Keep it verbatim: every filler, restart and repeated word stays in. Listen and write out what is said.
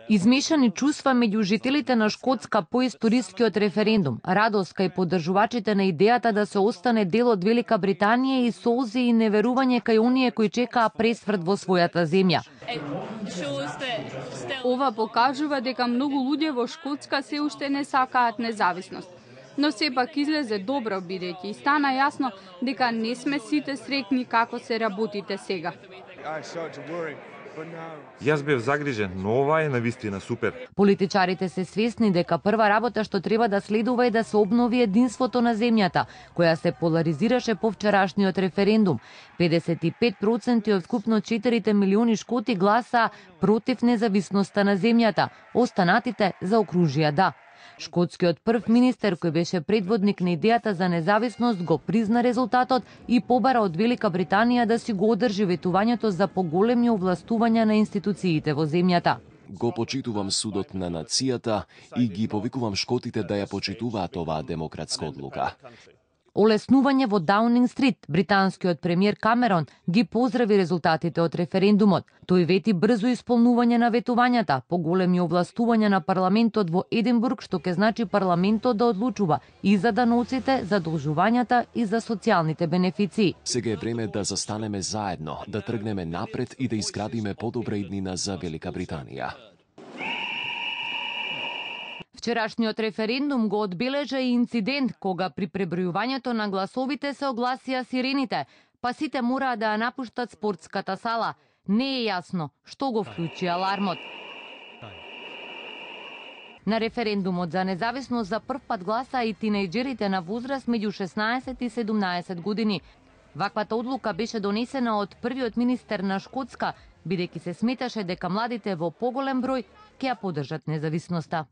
Измешани чувства меѓу жителите на Шкотска по историскиот референдум, радост кај поддржувачите на идејата да се остане дел од Велика Британија и солзи и неверување кај оние кои чекаа пресврт во својата земја. Ова покажува дека многу луѓе во Шкотска се уште не сакаат независност. Но сепак излезе добро бидејќи и стана јасно дека не сме сите среќни како се работите сега. Јас бев загрижен, но ова е навистина супер. Политичарите се свесни дека прва работа што треба да следува е да се обнови единството на земјата, која се поларизираше по вчерашниот референдум. педесет и пет проценти од вкупно четири милиони шкоти гласа против независноста на земјата, останатите заокружија да. Шкотскиот прв министер, кој беше предводник на идејата за независност, го призна резултатот и побара од Велика Британија да си го одржи ветувањето за поголеми овластувања на институциите во земјата. Го почитувам судот на нацијата и ги повикувам шкотите да ја почитуваат оваа демократска одлука. Олеснување во Даунинг Стрит, британскиот премиер Камерон ги поздрави резултатите од референдумот. Тој вети брзо исполнување на ветувањата, поголеми овластувања на парламентот во Единбург, што ќе значи парламентот да одлучува и за даноците, задолжувањата и за социјалните бенефиции. Сега е време да застанеме заедно, да тргнеме напред и да изградиме подобра иднина за Велика Британија. Вчерашниот референдум го одбележа и инцидент кога при пребројувањето на гласовите се огласија сирените, па сите мораа да ја напуштат спортската сала. Не е јасно што го вклучи алармот. На референдумот за независност за прв пат гласаа и тинејџерите на возраст меѓу шеснаесет и седумнаесет години. Ваквата одлука беше донесена од првиот министер на Шкотска, бидејќи се сметаше дека младите во поголем број ќе ја поддржат независноста.